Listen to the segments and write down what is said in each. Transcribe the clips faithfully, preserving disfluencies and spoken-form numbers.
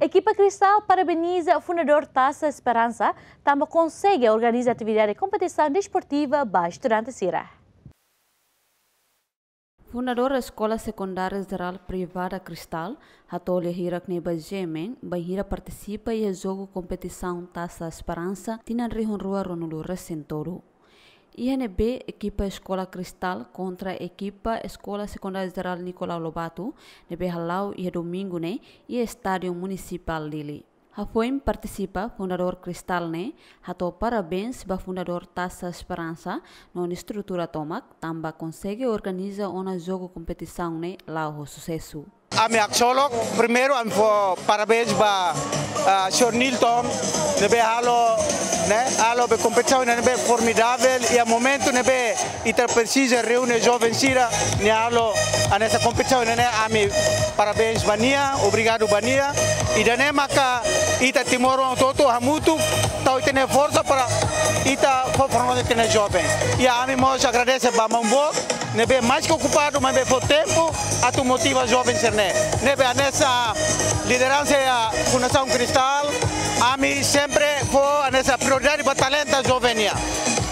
Ekipa Cristal parabeniza fundadór Taça Esperança, tanba konsege organiza atividade kompetisaun desportiva ba estudante sira. Fundadór Eskola Sekundária Jerál Privada Cristal, hato'o lia hirak ne'e ba GMN, bainhira partisipa iha jogu kompetisaun Taça Esperança, tinan rihun rua ruanulu resin tolu. Iha ne'ebé ekipa Eskola Cristal kontra ekipa Eskola Sekundária Jerál Nicolau Lobato, ne'ebé hala'o iha domingu ne'e, iha Estádiu Munisipál Dili. Hafoin partisipa, fundadór Cristal ne'e hato'o parabéns ba fundadór Taça Esperança no nia estrutura tomak, tanba konsege organiza ona jogu kompetisaun ne'e la'o ho susesu. Ami haksolok, primeiru ami fó parabéns ba, ah, señór Nilton, ne'ebé halo, ne'e, halo be kompetisaun ne'ebé formidável, iha momentu ne'ebé ita presiza reúne joven sira, nia halo hanesan kompetisaun ne'e, ami parabéns ba nia, obrigadu ba nia. Ida-ne'e maka ita timoroan hotu-hotu hamutuk, tau ita-nia forsa para ita fó forma ita-nia joven. I ami mós agradese ba maun boot, ne'ebé mais ke okupadu, maibé fó tempu atu motiva joven sira-ne'e. Ne'ebé hanesan lideransa iha Fundasaun Cristal, ami sempre fó hanesan prioridade ba talenta joven nian.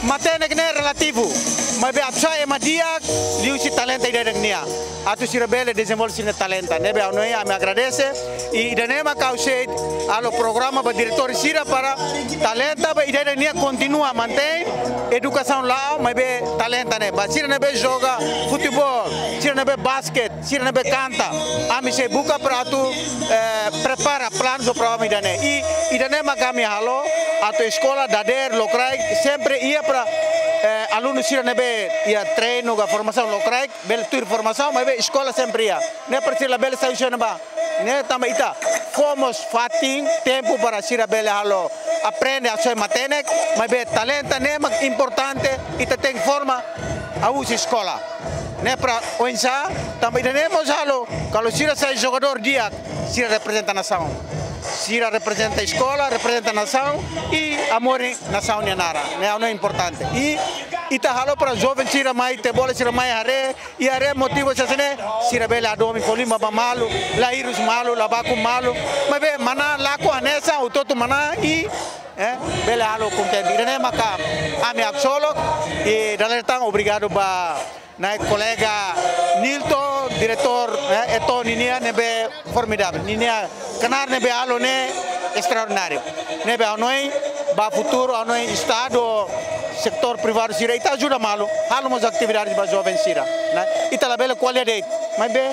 Matenek ne'e relativu, maibé atu sai ema di'ak liuhusi talenta ida-idak nian, atu sira bele dezenvolve sira-nia talenta. Ne'ebé ha'u hanoin ami agradese, i ida-ne'e maka ha'u sei halo programa ba diretór sira para talenta ba ida-idak nian kontinua mantein edukasaun la'o, maibé talenta ne'e ba sira ne'ebé joga futeból, sira ne'ebé basket, sira ne'ebé kanta, ami sei buka para atu, eh, prepara planu no programa ida-ne'e. I ida-ne'e maka ami halo atu eskola dadeer lokraik, sempre iha para, eh, alunu sira ne'ebé iha treinu ka formasaun lokraik, bele tuir formasaun, maibé eskola sempre iha. Ne'e para sira labele sai husi ne'ebá. Ne'e tanba ita fó mós fatin, tempu para sira bele halo, aprende atu sai matenek, maibé talenta ne'e mak importante, ita tenke forma hahú husi eskola. Ne'e para oinsá, tanba ida-ne'e mós halo, kalau sira sai jogadór di'ak, sira reprezenta nasaun. Sira reprezenta eskola, reprezenta nasaun, i hamoris nasaun nia naran. Ne'e ha'u hanoin importante. I ita halo para joven sira mai, te bola sira mai haree, i haree motiva sira-ne'e, sira bele hadomi fó liman ba malu, la hirus malu, la baku malu. Maibé manán lakon hanesan, hotu-hotu manán i, eh, bele halo kontente. Ida-ne'e maka ami haksolok, i dala ida tan obrigadu ba nai kolega Nilton, diretór, eh, Eto ninia ne'ebé formidável. Ninia knaar ne'ebé halo ne'e estraordináriu. Ne'ebé ha'u hanoin, ba futuru ha'u hanoin estadu, setór privadu sira, ita ajuda malu, halo mós atividade ba joven sira, ne'e? Ita labele ko'alia de'it, maibé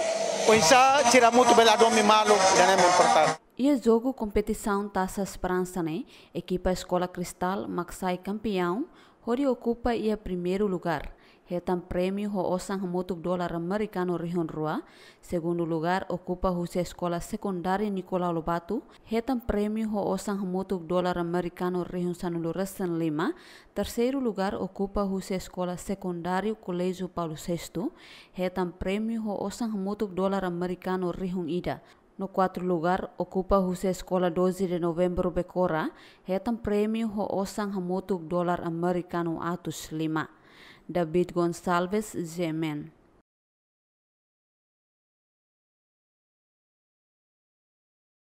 oinsá sira hamutuk bele hadomi malu, ida-ne'e importante. Iha jogu kompetisaun Taça Esperança ne'e, ekipa Eskola Cristal mak sai kampiaun, hodi okupa iha primeiru lugar, hetan prémiu ho osan hamutuk dolar amerikanu rihun rua, segundu lugar okupa husi Eskola Sekundária Nicolau Lobato, hetan prémiu ho osan hamutuk dolar amerikanu rihun sanulu resin lima, terseiru lugar okupa husi Eskola Sekundária Colégio Paulo Sexto, hetan prémiu ho osan hamutuk dolar amerikanu rihun ida, no kuartu lugar okupa husi Eskola Doze de Novembro Becora, hetan prémiu ho osan hamutuk dolar amerikanu atus lima. David Gonçalves, GMN.